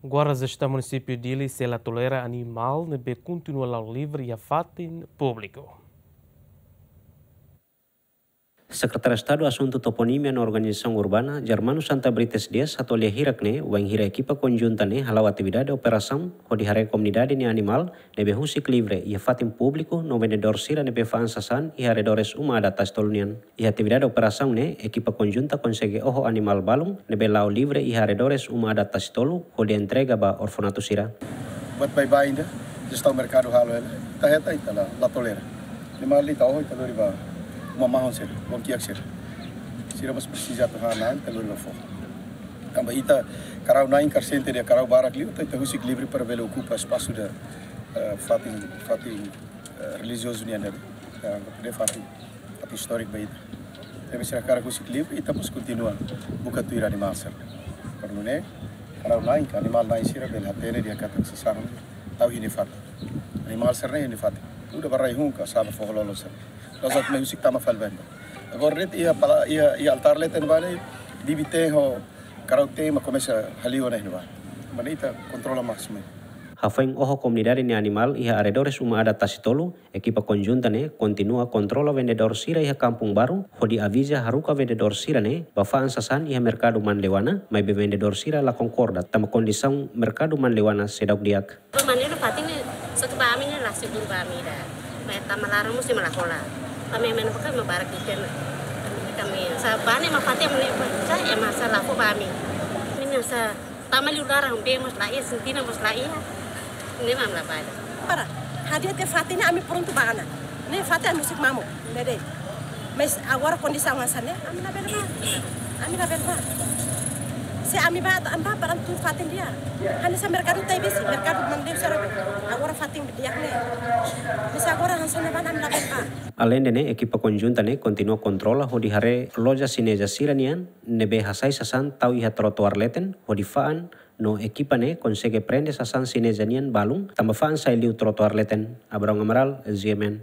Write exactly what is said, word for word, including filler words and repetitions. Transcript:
Guarda Jestaun Munisípiu Dili sei la tolera animál ne'ebé kontinua la'o livre iha fatin públiku. Sekretáriu Estadu Asuntu Toponímia no Organizasaun Urbana, Germano Santa Brites Dias, hato'o lia hirak ne'e, wainhira ekipa konjunta ne'e hala'o atividade operasaun hodi haree komunidade nia animál ne'ebé husik livre iha fatin públiku no vendedór sira ne'ebé fa'an sasán iha arredores uma adat Tasi Tolu nian. Iha atividade operasaun ne'e, ekipa konjunta konsege oho animál balun ne'ebé la'o livre iha arredores uma adat Tasi Tolu hodi entrega ba orfanatu sira. Buat baibain ida, jestaun merkadu halo hela, ita hetan, ita la, la tolera. Animál ita oho, ita lori ba uma mahon sira, uma kiak sira. Sira mós presiza atu han na'an, ita lori ba foho. Tanba ita karau-na'in, karsente de'it karau barak liu, ita, ita husik livre para bele okupa espasu ida, eh, fatin, fatin, eh, relijiozu nian ne'e. Ita anggap de'it fatin, fatin istóriku ba ita. Tanba sira hakarak husik livre, ita mós kontinua buka tuir animál sira. Para nune'e, karau-na'in ka animál-na'in sira bele hatene dehan katak sasán tau iha nia fatin. Animál sira-ne'e iha nia fatin. Uda ba rai-hun ka sa'e ba foho-lolon sira. La'ós atu mai husik tama fali ba ita. Agora de'it iha pala, iha, iha altár leten ne'ebá ne'e, bibi-teen ho karau-teen mak komesa haliu ona iha ne'ebá. Mak ne'e ita kontrola másimu. Hafoin oho komunidade nia animál iha arredores uma adat Tasi Tolu, ekipa konjunta ne'e kontinua kontrola vendedór sira iha Kampung Baru, hodi aviza haruka vendedór sira ne'e ba fa'an sasán iha merkadu Manleuana, maibé vendedór sira la konkorda, tanba kondisaun merkadu Manleuana seidauk di'ak. Ba mane no fatin ne'e, só ke ba ami ne'e la seguru ba ami ida. Mai tama laran mós ema la hola. Ami mena pakai ema barak ida-ne'e. Ami sá ba ne'e ema fatin ami ne'e, sá ema sá la fó ba ami. Ami ne'e sá tama liu laran, bee mós la iha, sentina mós la iha. Ne'e mak ami la bá. Para, hadi'a tiha fatin ne'e ami prontu bá ona. Ne'e fatin ami husik mamuk, ne'e de'it. Mas agora kondisaun hanesan ne'e, ami labele bá. Ami labele bá. Se ami bá, ami bá para tuir fatin ida. Hanesan merkadu Taibesi, merkadu Manleuana sira. Agora fatin di'ak ne'e. Mas agora hanesan ne'ebá ami labele bá. Aleinde ne'e, ekipa konjunta ne'e kontinua kontrola hodi haree loja xineza sira-nian ne'ebé hasai sasán tau iha trotoar leten, hodi fa'an no ekipa ne'e konsege prende sasán xineza nian balun, tanba fa'an sai liu trotoar leten. Abraão Amaral, G M N.